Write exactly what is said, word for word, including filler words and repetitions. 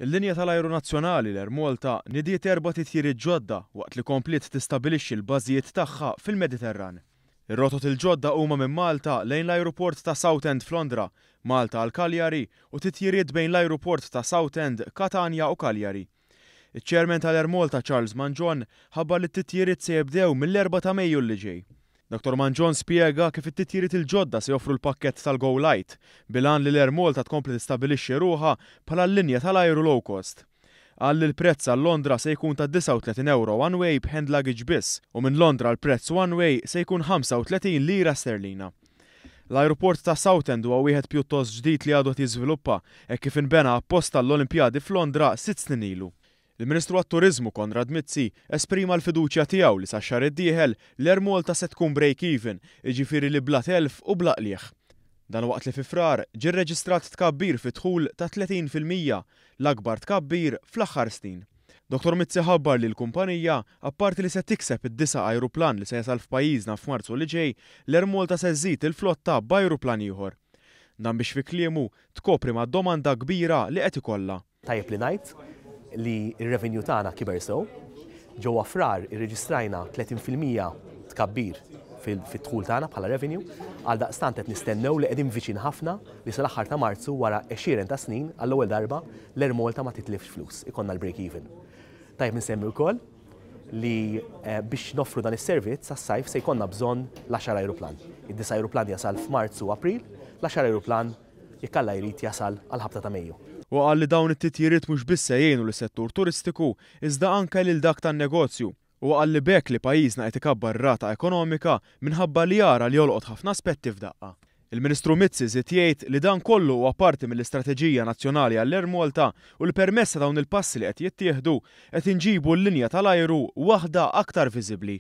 Il-linja tal-ajru nazzjonali l-Air Malta nidiet erba' titjiriet ġodda waqt li kompliet tistabbilixxi l-bażijiet tagħha fil-Mediterran. Ir-rotot il-ġodda huma minn Malta lejn l-ajruport ta' Southend f'Londra, Malta għal Cagliari u titjiriet bejn l-ajruport ta' Southend, Katanja u Cagliari. Iċ-Chairman tal-Air Malta Charles Mangion ħabbar li t-titjiriet se jibdew mill-erbgħa ta' Mejju li ġej. Dottor Mangion spjega kif it-titjiriet il-ġodda se joffru l-pakkett tal-Go Light bil-għan li l-Air Malta tkompli tistabbilixxi ruħha bħala l-linja tal-ajru low cost. Qal li l-prezz għal Londra se jkun ta' disgħa u tletin euro one way b'hand luggage biss u minn Londra l-prezz one way se jkun ħamsa u tletin lira sterlina. L-ajruport ta' Southend huwa wieħed pjuttost ġdid li għadu qed jiżviluppa hekk kif inbena apposta l-Olimpjadi f'Londra sitt snin ilu. Il-Ministru għat-Turiżmu Konrad Mizzi esprima l-fiduċja tiegħu li sax-xahar id-dieħel l-Air Malta se tkun break-even, jiġifieri li bla telf u bla qligħ. Dan waqt li fi Frar ġie rreġistrat tkabbir fi dħul ta' tletin fil-mija, l-akbar tkabbir fl-aħħar snin. Dottor Mizzi ħabbar li l-kumpanija, apparti li se tikseb id-disa' ajruplan li se jasal f'pajjiżna f'Marzu li ġej, l-Air Malta se żżid il-flotta b'ajruplan ieħor. Dan biex fi kliemu tkopri ma' domanda kbira li qed ikollha. Tajjeb li ngħid li r-revenue tagħna kiber sew. Ġewwa Frar irreġistrajna tletin fil-mija tkabbir fil-dħul tagħna bħala revenue, għal daqstant qed nistennew li qegħdin viċin ħafna li sal-aħħar ta' Marzu wara għexieren ta' snin għall-ewwel darba l-Air Malta ma titlifx flus, ikollna l-break even. Tajjeb nsemmi wkoll li, eh, biex noffru dan is-servizz għas-sajf se jkollna bżonn l-għaxar ajruplan. Id-disa' ajruplan jasal f'Marzu u April, l-għaxar ajruplan jekk Alla jrid jasal għal ħabta ta' Mejju. U qal li dawn it-titjiriet mhux biss se jgħinu lis-settur turistiku iżda anke lil dak tan-negozju. U qal li b'hekk li pajjiżna qed ikabbar rata ekonomika minħabba li jara li jolqot ħafna aspetti f'daqqa. Il-Ministru Mizzi żied jgħid li dan kollu huwa parti mill-Istrateġija Nazzjonali għall-Air Malta u li permezz ta' dawn il-passi li qed jittieħdu qed inġibu l-linja tal-ajru waħda aktar viżibbli.